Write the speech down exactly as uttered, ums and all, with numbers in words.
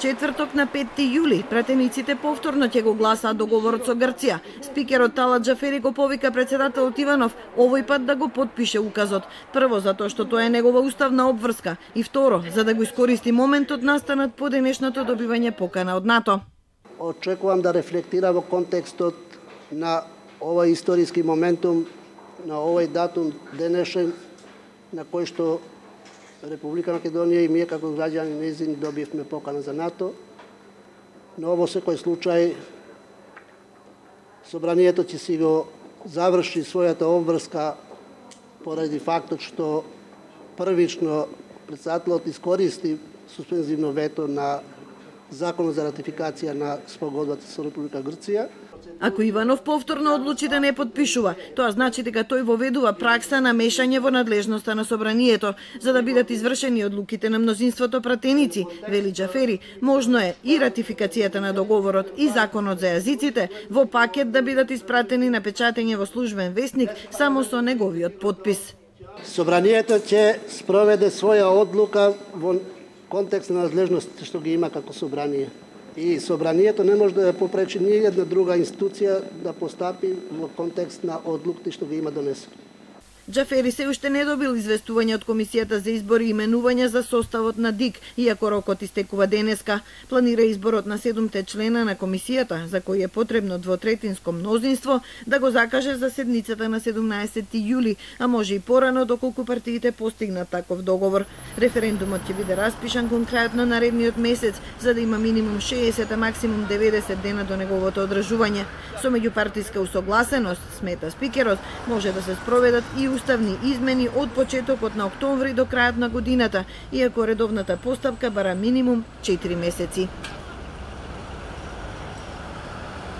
Четврток на петти јули пратениците повторно ќе го гласаат договорот со Грција. Спикерот Талат Џафери го повика председателот Иванов овој пат да го потпише указот. Прво затоа што тоа е негова уставна обврска и второ за да го искористи моментот настанат по денешното добивање покана од НАТО. Очекувам да рефлектира во контекстот на овој историски моментум, на овој датум денешен на кој што Република Македонија и ние како граѓани нејзини добивме покана за НАТО, но во секој случај собранието ќе си го заврши својата обврска поради фактот што првично председателот искористи суспензивно вето на Законот за ратификација на спогодбата со Република Грција. Ако Иванов повторно одлучи да не подпишува, тоа значи дека тој воведува пракса на мешање во надлежноста на собранието, за да бидат извршени одлуките на мнозинството пратеници, вели Џафери. Можно е и ратификацијата на договорот и законот за јазиците во пакет да бидат испратени на печатење во службен весник само со неговиот подпис. Собранието ќе спроведе своја одлука во контекст на надлежностите што ги има како собрание. И собранието не може да ја попречи ни една друга институција да постапи во контекст на одлуките што ги има донесени. Џафери се уште не добил известување од Комисијата за избори и именувања за составот на ДИК, иако рокот истекува денеска. Планира изборот на седумте члена на комисијата, за кој е потребно двотретинско мнозинство, да го закаже за седницата на седумнаесетти јули, а може и порано доколку партиите постигнат таков договор. Референдумот ќе биде распишан кон крајот на наредниот месец, за да има минимум шеесет, а максимум деветдесет дена до неговото одржување. Со меѓупартиска усогласеност, смета спикерот, може да се спроведат и уставни измени од почетокот на октомври до крајот на годината, иако редовната постапка бара минимум четири месеци.